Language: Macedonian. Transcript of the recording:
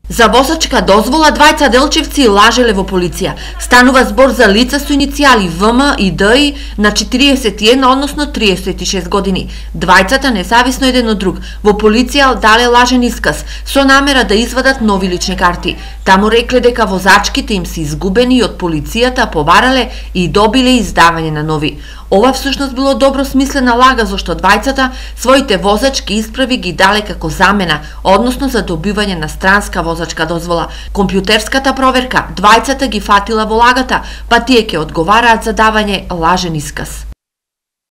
За возачка дозвола двајца делчевци лажеле во полиција. Станува збор за лица со иницијали ВМ и ДИ на 41, односно 36 години. Двајцата, независно еден од друг, во полиција дале лажен исказ со намера да извадат нови лични карти. Таму рекле дека возачките им се изгубени и од полицијата побарале и добиле издавање на нови. Ова всушност било добро смислена лага, зашто двајцата своите возачки исправи ги дале како замена, односно за добивање на странска возачка дозвола. Компјутерската проверка двајцата ги фатила во лагата, па тие ќе одговараат за давање лажен исказ.